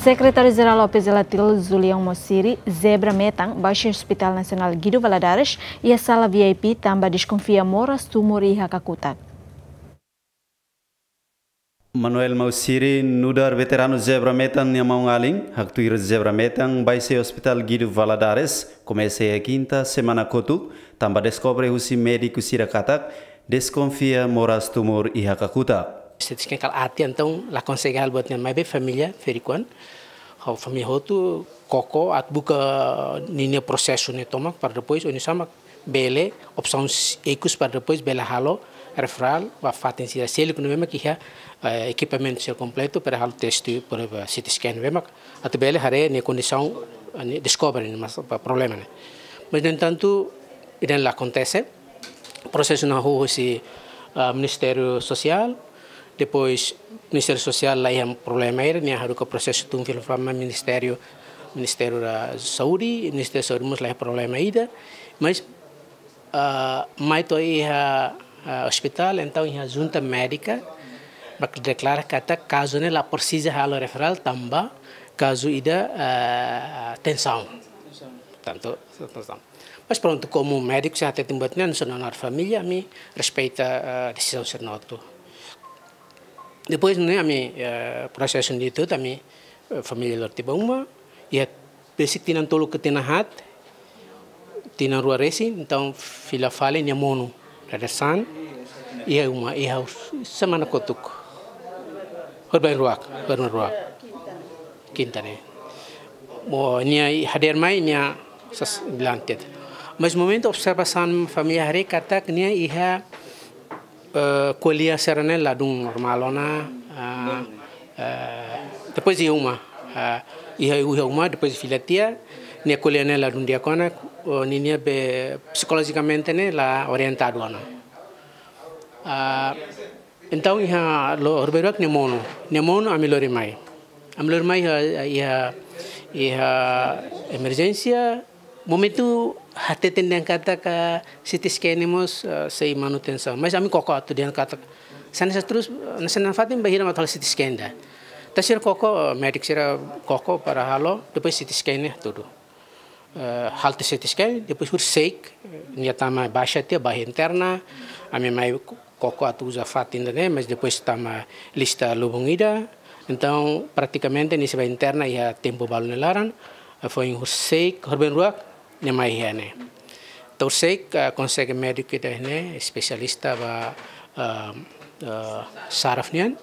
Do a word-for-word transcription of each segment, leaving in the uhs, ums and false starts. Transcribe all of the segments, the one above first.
Sekretáriu Jerál O P Zelatil Julião Mausiri zebra metan baixa Hospital Nasionál Guido Valadares iha sala V I P tanba deskonfia moras tumor iha kakutak. Manuel Mausiri nu'udar veteranu zebra metan nia maun-alin, haktuir zebra metan baixa Hospital Guido Valadares, komesa iha kinta semana kotuk, tanba deskobre husi médiku sira katak deskonfia moras tumor iha kakutak. C T scan kala ati, entaun la konsege halo buat nian, maibé família ferik oan, ho família hotu koko atu buka ninia prosesu ne'e tomak, para depois oinsá mak bele opsaun ikus para depois bele halo referral ba fatin sira seluk ne'ebé mak iha, eh, ekipamentu sira kompletu para halo teste, por exemplo, C T scan ne'ebé mak atu bele haree nia kondisaun, eh, nia deskobre nia mas-, problema ne'e. Mas, no entantu, ida-ne'e la akontese. Prosesu ne'e hahú husi, ah, Ministériu Sosiál, depois Ministériu Sosiál la iha problema ida, nia haruka prosesu tun fila fali mai Ministériu, Ministériu da Saúde, Ministériu Saúde mós la iha problema ida, mas, ah, mai to'o iha, ah, ospitál, entaun iha junta médika mak deklara katak kazu ne'e la presiza halo referral tanba kazu ida, ah, tensaun. Tantu, tensaun. Mas prontu, komu médiku sira hateten buat ne'e, no sona na família, ami respeita, eh, desizaun sira-nia hotu. Depois ne'e ami, eh, prosesu ne'e hotu, ami, eh, família lori tiha ba uma, iha besik tinan tolu ka tinan haat, tinan rua resin, entaun fila fali nia monu, Dada San, iha uma, iha semana kotuk. Horbain ruak, horbain ruak. Kinta ne'e. Mo nia hadeer mai nia sas dilantet. Mas momentu observasaun família haree katak nia iha, eh, kolia sira-ne'e ladún normál ona, ah, eh, depois iha uma, ah, iha, iha uma, depois fila tiha, nia kolia ne'e ladún di'ak ona, oh, ninia be psikolojikamente ne'e la orientadu ona. Ah, entaun iha lo-, horbain ruak nia monu. Nia monu ami lori mai. Ami lori mai iha, iha, iha emerjénsia. Momentu hateten dehan katak C T scan ne'e mós, eh, sei manutensaun. Mas ami koko atu dehan katak. Hanesan ne'e terus, eh, hanesan ne'e fatin bainhira mak halo C T scan ida. Entaun sira koko, eh, médiku sira koko para halo, depois C T scan ne'e hatudu. Eh, halo teste C T scan, depois horisehik, eh, nia tama baixa tiha, baixa interna, ami mai ko-, koko atu uza fatin ida-ne'e, mas depois tama lista lubun ida. Entaun, pratikamente, nia sei bá interna iha tempu balun nia laran, eh, foin horisehik, horbain ruak, nia mai iha ne'e. Entaun horisehik, eh, konsege médiku ida-ne'e, espesialista ba, eh, eh, saraf nian,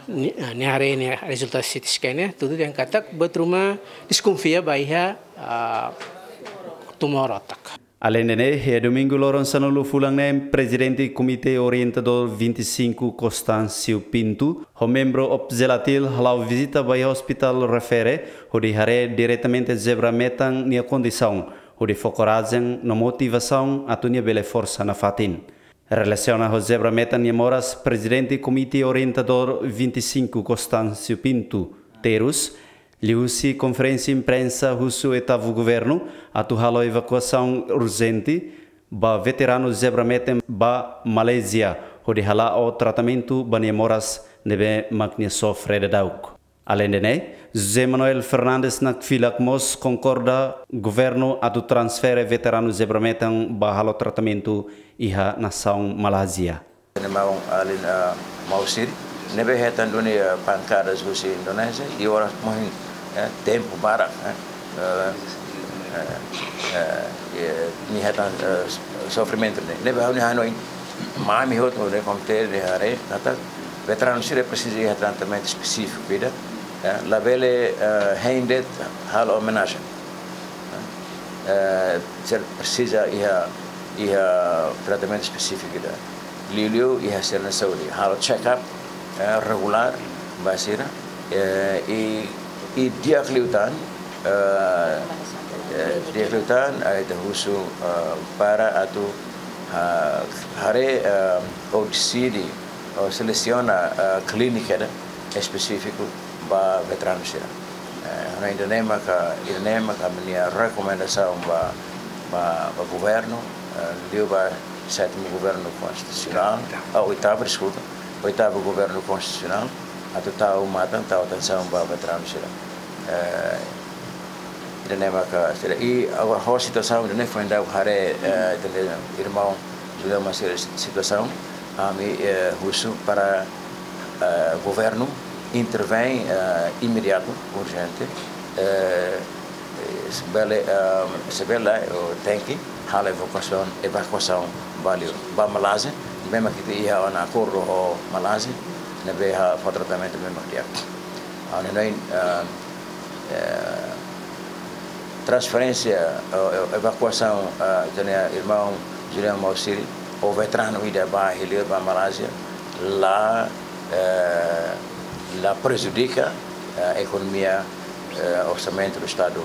ni-, eh, nia haree nia rezultadu C T scan ne'e, hatudu dehan katak buat ruma deskonfia ba iha, eh, tumor otak. Aleinde ne'e, iha domingu loron sanulu fulan neen, Prezidente Komité Orientadór vinte e cinco, Constâncio Pinto, ho membru O P Zelatil hala'o vizita ba iha ospitál refere, hodi haree diretamente zebra metan nia kondisaun, hodi fó korajen no motivasaun atu nia bele forsa nafatin. Relasiona ho zebra metan nia moras, Prezidente Komité Orientadór vinte e cinco, Constâncio Pinto, terus, liuhusi konferénsia imprensa husu oitavu governu atu halo evakuasaun urjente ba veteranu zebra metan ba Malázia, hodi hala'o tratamentu ba nia moras ne'ebé mak nia sofre daudauk. Aleinde ne'e, José Manuel Fernandes Nakfilak mós konkorda governu atu transfere veteranu zebra metan ba halo tratamentu iha nasaun Malázia. Nia maun-alin, ah, Mausiri, ne'ebé hetan duni, ah, pankadas husi Indonézia, i oras mohin, eh, tempu barak, eh, eh, eh, eh, eh, nia hetan, eh, sofrimentu ne'e. Ne'ebé ha'u-nia hanoin, ami hotu ne'e komité ne'e haree, katak veteranu sira presiza iha tratamentu espesífiku ida, eh, labele, eh, hein de'it halo omenajen. Eh, sira presiza iha, iha tratamentu espesífiku ida. Liuliu iha sira-nia saúde. Halo check-up, eh, regulár ba sira. Eh, i, i di'ak liután, eh, eh, di'ak liután, ah, ita husu, eh, para atu, ah, haree, eh, ou deside, ou selesiona, eh, klínika ida espesífiku ba veteranu sira. Eh, no ida-ne'e maka, ida-ne'e maka ami-nia rekomendasaun ba, ba, ba governu, eh, liu ba sétimu governu konstitusionál, ah, oitavu, deskulpa, oitavu governu konstitusionál, atu tau matan, tau atensaun ba veteranu sira. Eh, ida-ne'e maka sira, i agora ho situasaun ida-ne'e foin daudauk haree, eh, ida-ne'e irmaun Julião Massiri situasaun, ami, eh, husu para, eh, governu intervein, eh, imediatu, urjente, eh, eh, se bele, eh, se bele, eh, tenke halo evakuasaun, evakuasaun ba li'ur, ba Malázia, ne'ebé mak ita iha ona akordu ho Malázia, ne'ebé halo tratamentu ne'ebé mak di'ak. Ah, ne'e, eh, eh, transferénsia, eh, evakuasaun, eh, ida-ne'e irmaun Julião Massiri, ou veteranu ida ba hili ba Malázia, la, eh, la prejudika, eh, ekonomia, eh, orsamentu do Estadu,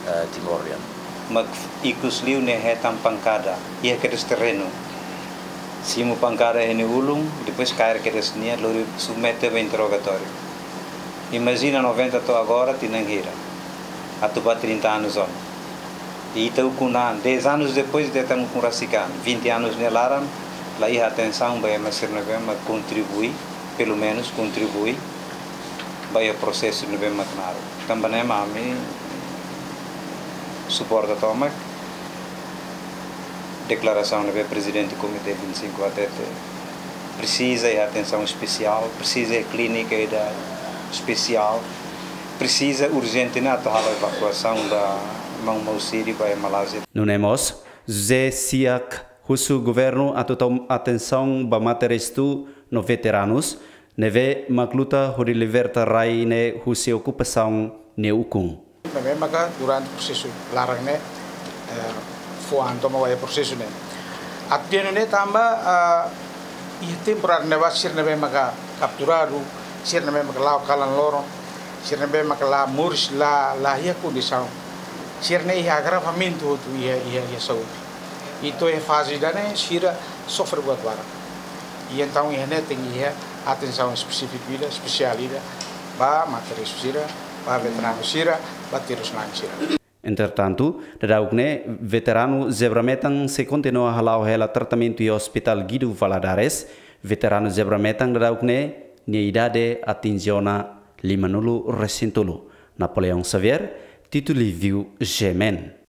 eh, timoroan. Mak ikus liu ne'e hetan pankada, iha kedas terrenu. Simu pankada iha nia ulun, depois kaer kedas nia, lori submete ba interrogatóriu. Imajina noventa to'o agora, tinan hira. Atu ba trinta anos ona. I ita ukun an, dez anos depois, ita hetan ukun rasik an, vinte anos nia laran, la iha atensaun ba ema sira ne'ebé mak kontribui, pelumenus kontribui ba iha prosesu ne'ebé mak naruk. Tanba ne'e mak ami suporta tomak deklarasaun ne'ebé Prezidente Komité vinte e cinco hatete. Presiza iha atensaun espesiál, presiza iha klínika ida espesiál, presiza urjente ne'e atu halo evakuasaun ba maun Massiri ba iha Malázia. Nune'e mós, José Siak husu governu atu tau atensaun ba mate-restu no veteranus ne'ebé mak luta hodi liberta rai ne'e husi okupasaun nia ukun. Ne'ebé maka durante prosesu laran ne'e, eh, fó an tomak ba iha prosesu ne'e. Atu dehan ne'e tanba, ah, iha tempu rarne'ebá sira ne'ebé maka kapturadu, sira ne'ebé maka la'o kalan loron, sira ne'ebé maka la moris, la, la iha kondisaun. Sira ne'e iha agravamentu hotu iha, iha, iha saúde. I to'o iha faze ida-ne'e sira sofre buat barak. I entaun iha ne'e tenke iha atensaun espesífiku ida, espesiál ida, ba mate-restu sira, ba veteranu sira, ba terus-na'in sira. Entretantu, daudauk ne'e veteranu Zebra Metan sei kontinua hala'o hela tratamentu iha Hospital Guido Valadares. Veteranu Zebra Metan daudauk ne'e, nia idade atinje ona limanulu resin tolu. Napoleão Xavier, Tito Livio, G M N.